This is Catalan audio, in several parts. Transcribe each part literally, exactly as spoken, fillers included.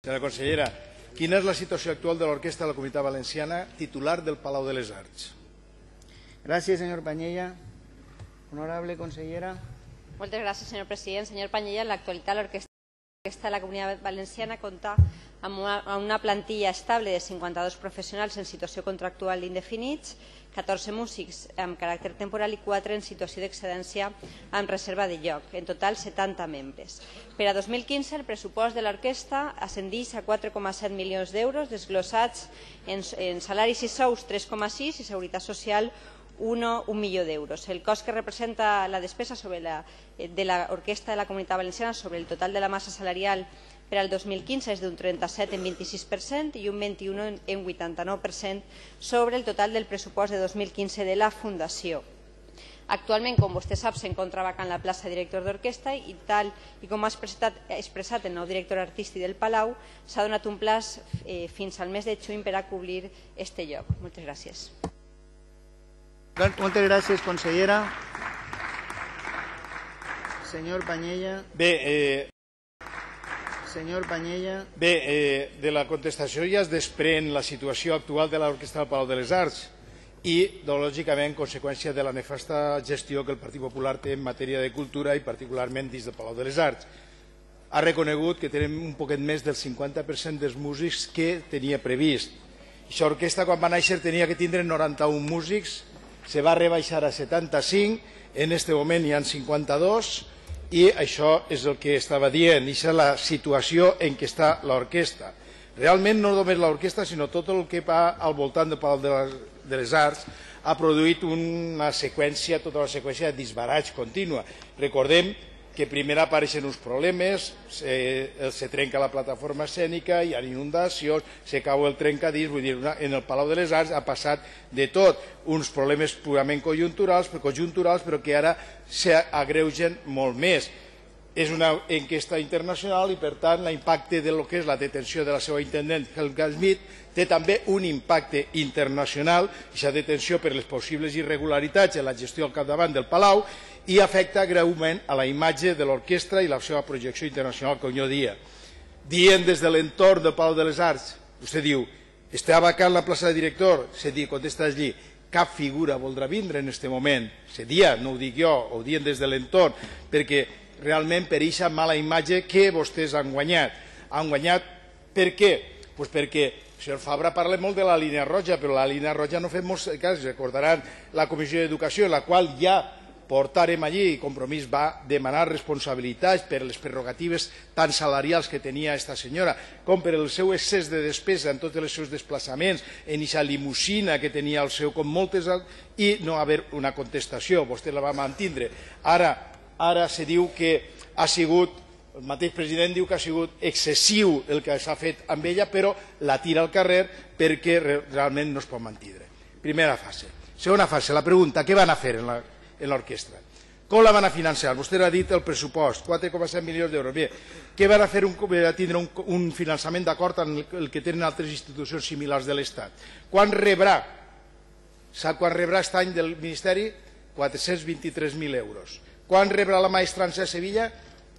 Senyora consellera, quina és la situació actual de l'Orquestra de la Comunitat Valenciana, titular del Palau de les Arts? Gràcies, senyor Pañella. Honorable consellera. Moltes gràcies, senyor president. Senyor Pañella, en l'actualitat l'Orquestra de la Comunitat Valenciana compta amb una, amb una plantilla estable de cinquanta-dos professionals en situació contractual indefinits, catorze músics amb caràcter temporal i quatre en situació d'excedència amb reserva de lloc, en total setanta membres. Per a dos mil quinze el pressupost de l'orquestra ascendeix a quatre coma set milions d'euros, desglossats en, en salaris i sous tres coma sis i seguretat social un milió d'euros. El cost que representa la despesa sobre la, de l'Orquestra de la Comunitat Valenciana sobre el total de la massa salarial per al dos mil quinze és d'un trenta-set en vint-i-sis per cent i un vint-i-un en vuitanta-nou per cent sobre el total del pressupost de dos mil quinze de la Fundació. Actualment, com vostè sap, s'encontra vacant la plaça de director d'orquestra i tal i com ha expressat, expressat el nou director artístic del Palau, s'ha donat un plaç eh, fins al mes de juny per a cobrir este lloc. Moltes gràcies. Moltes gràcies, consellera. Senyor Pañella. Bé, eh, Senyor Pañella. bé eh, de la contestació ja es desprèn la situació actual de l'Orquestra del Palau de les Arts i, lògicament, conseqüència de la nefasta gestió que el Partit Popular té en matèria de cultura i particularment dins del Palau de les Arts. Ha reconegut que tenim un poquet més del cinquanta per cent dels músics que tenia previst. Aquesta orquestra, quan va néixer, tenia que tindre noranta-un músics, se va rebaixar a setanta-cinc, en aquest moment hi ha cinquanta-dos, i això és el que estava dient, aquesta és la situació en què està l'orquestra. Realment no només l'orquestra, sinó tot el que va al voltant del Palau de les Arts ha produït una seqüència, tota una seqüència de disbarats contínua. Recordem que primer apareixen uns problemes, se, se trenca la plataforma escènica, hi ha inundacions, se cau el trencadís, vull dir, en el Palau de les Arts ha passat de tot, uns problemes purament conjunturals, conjunturals però que ara s'agreugen molt més. És una enquesta internacional i, per tant, l'impacte del que és la detenció de la seva intendent, Helga Schmidt, té també un impacte internacional, aquesta detenció per les possibles irregularitats en la gestió al capdavant del Palau, i afecta greument a la imatge de l'orquestra i la seva projecció internacional, com jo dia. Dient des de l'entorn del Palau de les Arts, vostè diu, està vacant la plaça de director, se diu, contesta allí, cap figura voldrà vindre en aquest moment. Se dia, no ho dic jo, ho dient des de l'entorn, perquè realment per aquesta mala imatge que vostès han guanyat. Han guanyat per què? Pues perquè el senyor Fabra parla molt de la línia roja, però la línia roja no fem molts cas. Recordaran la Comissió d'Educació, en la qual ja portarem allí, i Compromís va demanar responsabilitats per les prerrogatives tan salarials que tenia aquesta senyora, com per el seu excés de despesa en tots els seus desplaçaments, en aquesta limusina que tenia el seu, com moltes, i no haver una contestació. Vostè la va mantindre. Ara, ara se diu que ha sigut, el mateix president diu que ha sigut excessiu el que s'ha fet amb ella, però la tira al carrer perquè realment no es pot mantindre. Primera fase. Segona fase, la pregunta, què van a fer en l'orquestra? Com la van a financiar? Vostè ha dit el pressupost, quatre coma set milions d'euros. Bé, què van a fer a tindre un, un finançament d'acord amb el que tenen altres institucions similars de l'Estat? Quan rebrà? Sap quan rebrà aquest any del Ministeri? quatre-cents vint-i-tres mil euros. Quan rebrà la maestrança a Sevilla?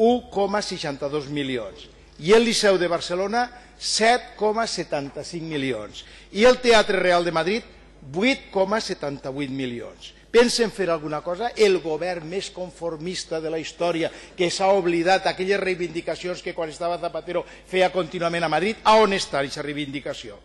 un coma seixanta-dos milions. I el Liceu de Barcelona? set coma setanta-cinc milions. I el Teatre Real de Madrid? vuit coma setanta-vuit milions. Pensen fer alguna cosa? El govern més conformista de la història, que s'ha oblidat aquelles reivindicacions que quan estava Zapatero feia contínuament a Madrid, a on està aquesta reivindicació?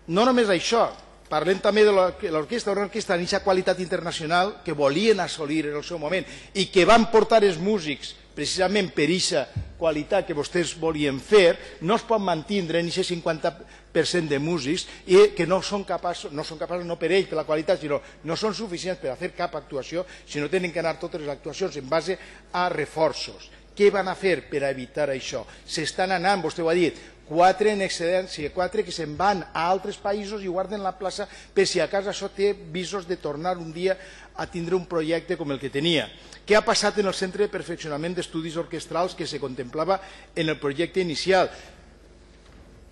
No només això, parlem també de l'orquestra, una orquestra d'aquesta qualitat internacional que volien assolir en el seu moment i que van portar els músics precisament per aquesta qualitat que vostès volien fer, no es pot mantindre en aquest cinquanta per cent de músics i que no són capaços, no són capaços no per ells, per la qualitat, sinó no són suficients per a fer cap actuació, sinó tenen que anar totes les actuacions en base a reforços. Què van a fer per a evitar això? S'estan anant, vostè ho ha dit, quatre en excedència, quatre que se'n van a altres països i guarden la plaça per si a casa això té visos de tornar un dia a tindre un projecte com el que tenia. Què ha passat en el Centre de Perfeccionament d'Estudis Orquestrals que se contemplava en el projecte inicial?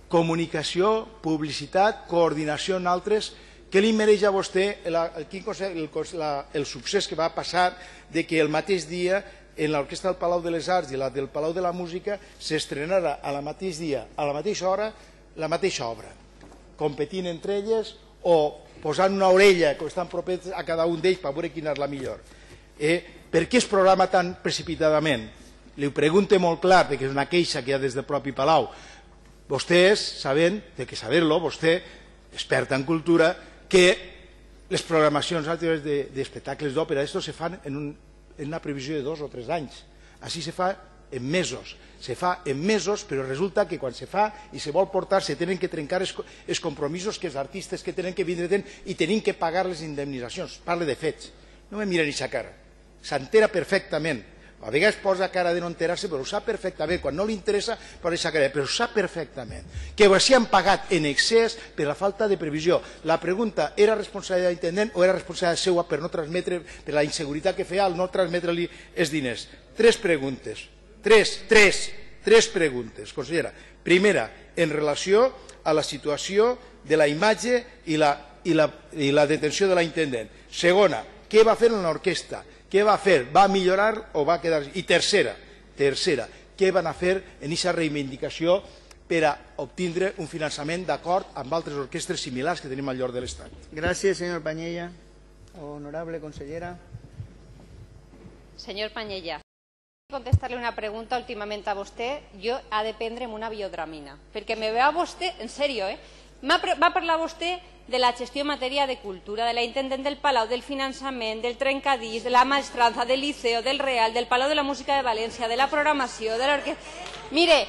Comunicació, publicitat, coordinació en altres. Què li mereix a vostè el, el, el, el succés que va passar de que el mateix dia en l'Orquestra del Palau de les Arts i la del Palau de la Música s'estrenara al mateix dia, a la mateixa hora, la mateixa obra, competint entre elles o posant una orella, que estan propers a cada un d'ells per veure quina és la millor. Eh, per què es programa tan precipitadament? Li ho pregunto molt clar, perquè és una queixa que hi ha des del propi Palau. Vostès saben, té que saber-lo, vostè, experta en cultura, que les programacions d'espectacles d'òpera, esto se fan en, un, en una previsió de dos o tres anys. Així se fa en mesos. Se fa en mesos, però resulta que quan se fa i se vol portar se tenen que trencar els, els compromisos que els artistes que tenen que vindre tenen i tenen que pagar les indemnitzacions. Parle de fets. No me mira ni sa cara. S'entera perfectament. A vegades posa cara de no enterar-se, però ho sap perfectament. Quan no li interessa, posa sa cara, però ho sap perfectament. Que ho s'hi han pagat en excés per la falta de previsió. La pregunta, era responsabilitat de l'intendent o era responsabilitat seva per no transmetre, per la inseguretat que feia al no transmetre-li els diners? Tres preguntes. Tres, tres, tres preguntes, consellera. Primera, en relació a la situació de la imatge i la, i la, i la detenció de l'intendent. Segona, què va fer en l'orquestra? Què va fer? Va millorar o va quedar... I tercera, tercera, què van a fer en aquesta reivindicació per a obtindre un finançament d'acord amb altres orquestres similars que tenim al lloc de l'Estat? Gràcies, senyor Pañella. Honorable consellera. Senyor Pañella, contestar-li una pregunta últimament a vostè, jo ha de prendre'm una biodramina, perquè me veu a vostè, en sèrio, eh? Va parlar vostè de la gestió en matèria de cultura, de la intendent del Palau, del finançament, del trencadís, de la maestranza, del Liceo, del Real, del Palau de la Música de València, de la programació, de l'orquestra... Mire,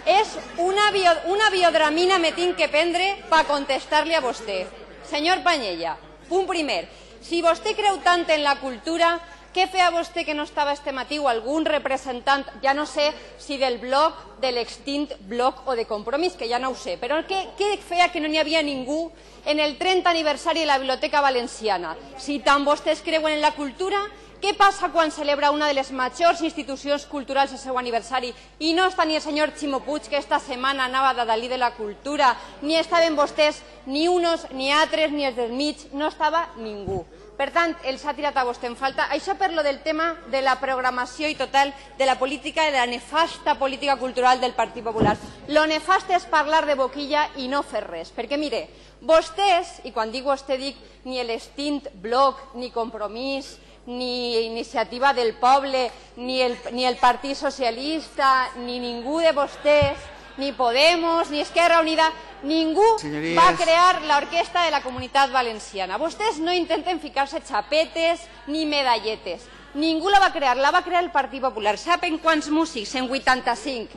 és una, bio, una biodramina me tinc que prendre per contestar-li a vostè. Senyor Pañella, punt primer, si vostè creu tant en la cultura, què feia vostè que no estava este matí o algun representant, ja no sé si del bloc, de l'extint bloc o de Compromís, que ja no ho sé, però què, què feia que no n'hi havia ningú en el trenta aniversari de la Biblioteca Valenciana? Si tant vostès creuen en la cultura, què passa quan celebra una de les majors institucions culturals el seu aniversari i no està ni el senyor Ximo Puig, que esta setmana anava de Dalí de la cultura, ni estaven vostès, ni unos, ni altres, ni els del mig, no estava ningú. Per tant, els ha tirat a vostè en falta. Això per lo del tema de la programació i total de la política, de la nefasta política cultural del Partit Popular. Lo nefast és parlar de boquilla i no fer res. Perquè, mire, vostès, i quan dic vostè dic ni l'Extint Bloc, ni Compromís, ni Iniciativa del Poble, ni el, ni el Partit Socialista, ni ningú de vostès, ni Podemos, ni Esquerra Unida, ningú Señorías. va crear l'orquestra de la Comunitat Valenciana. Vostès no intenten ficar-se xapetes ni medalletes. Ningú la va crear, la va crear el Partit Popular. Saben quants músics? En vuitanta-cinc.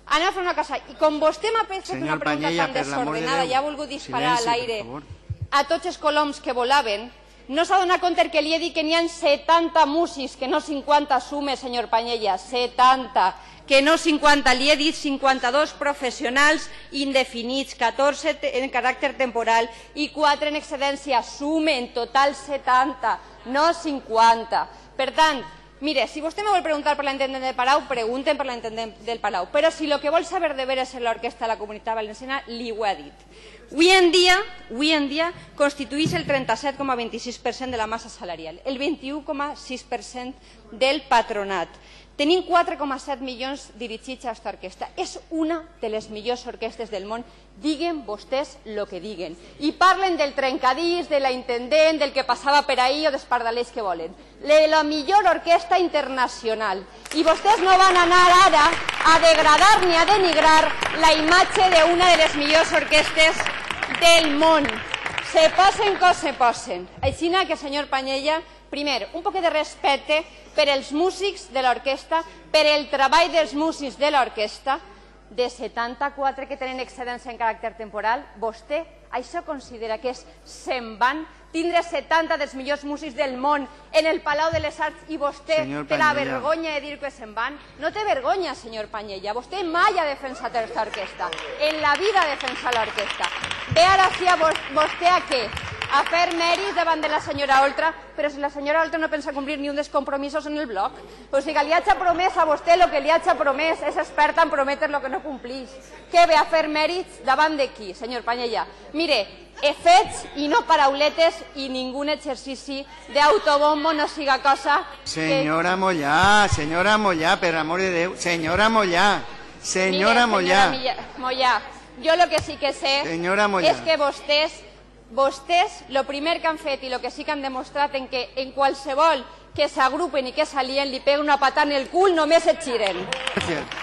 Anem a fer una cosa. I com vostè m'ha fet una pregunta Pañella, tan per l'amor de desordenada, Déu, ja ha volgut disparar silenci, a l'aire per favor. a tots els coloms que volaven, no s'ha donat compte que li he dit que n'hi ha setanta músics, que no cinquanta sumes, senyor Pañella, setanta, que no cinquanta, li he dit cinquanta-dos professionals indefinits, catorze en caràcter temporal i quatre en excedència, sume en total setanta, no cinquanta. Per tant, mire, si vostè me vol preguntar per l'intendent del Palau, pregunten per l'intendent del Palau, però si el que vol saber de veres és l'orquestra de la Comunitat Valenciana, li ho he dit. Avui en dia, avui en dia constitueix el trenta-set coma vint-i-sis per cent de la massa salarial, el vint-i-u coma sis per cent del patronat. Tenim quatre coma set milions dirigits a aquesta orquestra. És una de les millors orquestres del món, diguen vostès el que diguen. I parlen del trencadís, de la intendent, del que passava per ahir o dels pardalers que volen. La millor orquestra internacional. I vostès no van anar ara a degradar ni a denigrar la imatge d'una de les millors orquestres del món. Se posen com se posen. Així que, senyor Pañella, primer, un poc de respecte per als músics de l'orquestra, per el treball dels músics de l'orquestra, de setanta-quatre que tenen excedència en caràcter temporal, vostè això considera que és se'n van tindre setanta dels millors músics del món en el Palau de les Arts i vostè té la vergonya de dir que se'n van? No té vergonya, senyor Pañella. Vostè mai ha defensat aquesta orquestra. En la vida ha defensat l'orquestra. Ve ara sí a vostè a què? a fer mèrits davant de la senyora Oltra, però si la senyora Oltra no pensa complir ni un dels compromisos en el bloc. O sigui, li haig promès a vostè el que li haig promès, és experta en prometre el que no complix. Què ve a fer mèrits davant de qui, senyor Panyella? Mire, fets i no parauletes i ningú exercici d'autobombo no siga cosa... Senyora Mollà, senyora Mollà, per amor de Déu, senyora Mollà, senyora Mollà. Mollà, jo el que sí que sé és que vostès, vostès, el primer que han fet i el que sí que han demostrat en que en qualsevol que s'agrupen i que s'alien li peguen una patada en el cul, només et giren. Gràcies.